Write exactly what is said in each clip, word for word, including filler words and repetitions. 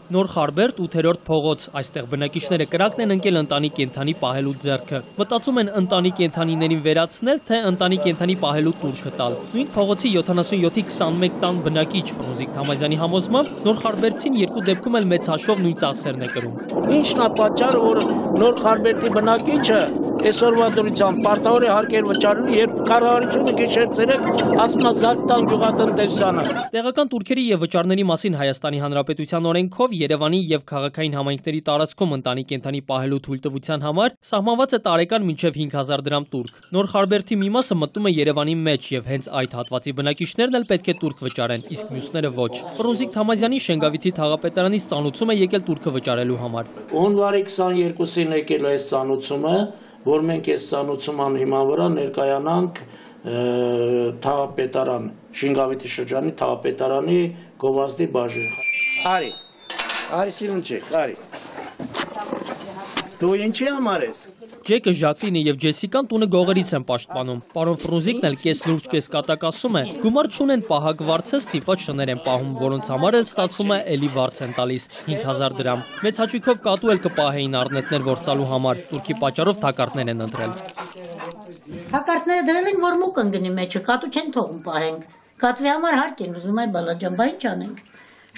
Նոր Խարբերդ ութերորդ փողոց, այստեղ բնակիչները կրակն են ընկել ընտանի կենդանի պահելու ձեռքը։ Մտածում են ընտանի կենդանիներին վերացնել, թե ընտանի կենդանի պահելու տուրքը տալ։ Նույն փողոցի յոթանասունյոթի քսանմեկ տան բնակիչ Ֆրունզիկ Թամազյանի համոզմամբ Նոր Խարբերդցին երկու դեպքում էլ մեծ հաշվով նույն ծախսերն է կրում։ Ինչն է պատճառը, որ Նոր Խարբերդի բնակիչը այսօրվա դրությամբ պարտավոր է հարկեր վճարելու, երբ կառավարությունը գիշեր ցերեկ ասում է զարկ տալ գյուղատնտեսությանը։ Տեղական տուրքերի եւ վճարների մասին Հայաստանի Հանրապետության օրենքով Երևանի եւ քաղաքային համայնքների տարածքում ընտանի կենդանի պահելու թույլտվության համար սահմանված է տարեկան մինչեւ հինգ հազար դրամ տուրք։ Նոր Խարբերդի մի մասը մտնում է Երևանի մեջ եւ հենց այդ հատվածի բնակիչներն էլ պետք է տուրք վճարեն, իսկ մյուսները ոչ։ Ֆրունզիկ Թամազյանի Շենգավիթի թաղապետարանից ծանուցում է եկել տուրքը վճարելու համար։ Հունվարի քսաներկուսին եկել է այս ծանուցումը, որ մենք այս ծանուցման հիման վրա ներկայանանք թաղապետարան, Շենգավիթի շրջանի թաղապետարանի գովազդի բաժին։ Արի, արի սիրունջեք, արի։ Դու ինչի համար ես։ Ջեկը, Ժակլինը եւ Ջեսիկան տունը գողերից են պաշտպանում։ Պարոն Ֆրունզիկն էլ կես լուրջ կես կատակ ասում է, գումար չունեն պահակ վարձը ստիպված շներ են պահում, որոնց համար էլ ստացվում է էլի վարձ են տալիս հինգ հազար դրամ։ Մեծ հաճույքով կատու էլ կպահեին առնետներ որսալու համար, տուրքի պատճառով թակարդներ են ընտրել։ Թակարդները դրել են, որ մուկ ընկնի մեջը, կատու չեն թողում պահենք։ Կատվի համար հարկ են ուզում, այ բալաջան, բա ինչ անենք։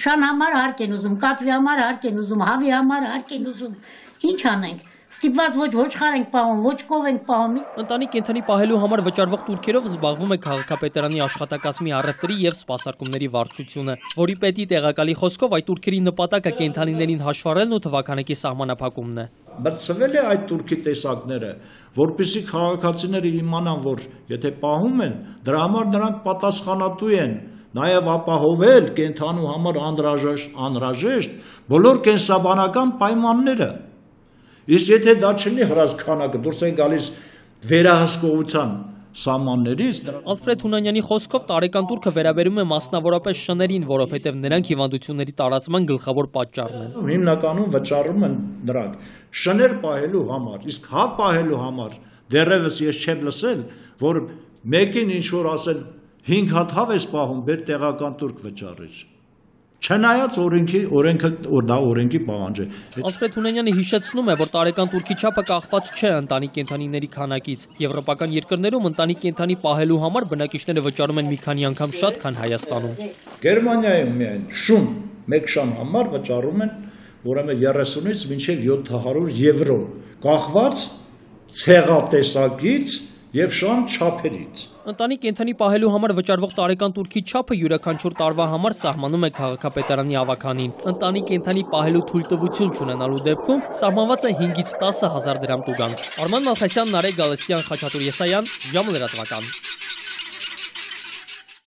Շան համար հարկ են ուզում, կատվի համար հարկ են ուզում, հավի համար հարկ են ուզում։ Ինչ անենք։ Ստիպված ոչ ոչխար ենք պահում, ոչ կով ենք պահում։ Ընտանի կենդանի պահելու համար վճարվող տուրքերով զբաղվում է քաղաքապետարանի աշխատակազմի առևտրի եւ սպասարկումների վարչությունը, որի պետի տեղակալի խոսքով այդ տուրքերի նպատակը կենդանիներին հաշվառելն ու թվականակի սահմանափակումն է։ Բացվել է այդ տուրքի տեսակները, որպեսզի քաղաքացիները իմանան, որ եթե պահում են, դրա համար նրանք պատասխանատու են նաև ապահովել կենդանու համար անհրաժեշտ անհրաժեշտ բոլոր կենսաբանական պայմանները։ Իսկ եթե դա չլինի հրազքանակը, դուրս են գալիս վերահսկողության սահմաններից։ Ալֆրեդ Հունանյանի խոսքով տարեկան տուրքը վերաբերում է մասնավորապես շներին, որովհետև նրանք հիվանդությունների տարածման գլխավոր պատճառն են։ Հիմնականում վճարում են նրանք շներ պահելու համար, իսկ հա պահելու համար դեռևս ես չեմ լսել, որ մեկին ինչ որ ասել հինգ հատ հավ ես պահում, բեր տեղական տուրք վճարեց։ Չնայած օրենքի օրենքը դա օրենքի պահանջ է։ Ալֆրեդ Հունանյանը հիշեցնում է, որ տարեկան տուրքի չափը կախված չէ ընտանի կենդանիների քանակից։ Եվրոպական երկրներում ընտանի կենդանի պահելու համար բնակիչները վճարում են մի քանի անգամ շատ, քան Հայաստանում։ Գերմանիայում միայն շուն մեկ շան համար վճարում են ուրեմն երեսունից մինչև յոթ հարյուր եվրո, կախված ցեղատեսակից եւ շան չափերից։ Ընտանի կենդանի պահելու համար վճարվող տարեկան տուրքի չափը յուրաքանչյուր տարվա համար սահմանում է քաղաքապետարանի ավականին։ Ընտանի կենդանի պահելու թույլտվություն չունենալու դեպքում սահմանված է հինգից տասը հազար դրամ տուգանք։ Արման Մալխասյան, Նարեկ Գալստյան, Խաչատուր Եսայան, Ժամը լրատվական։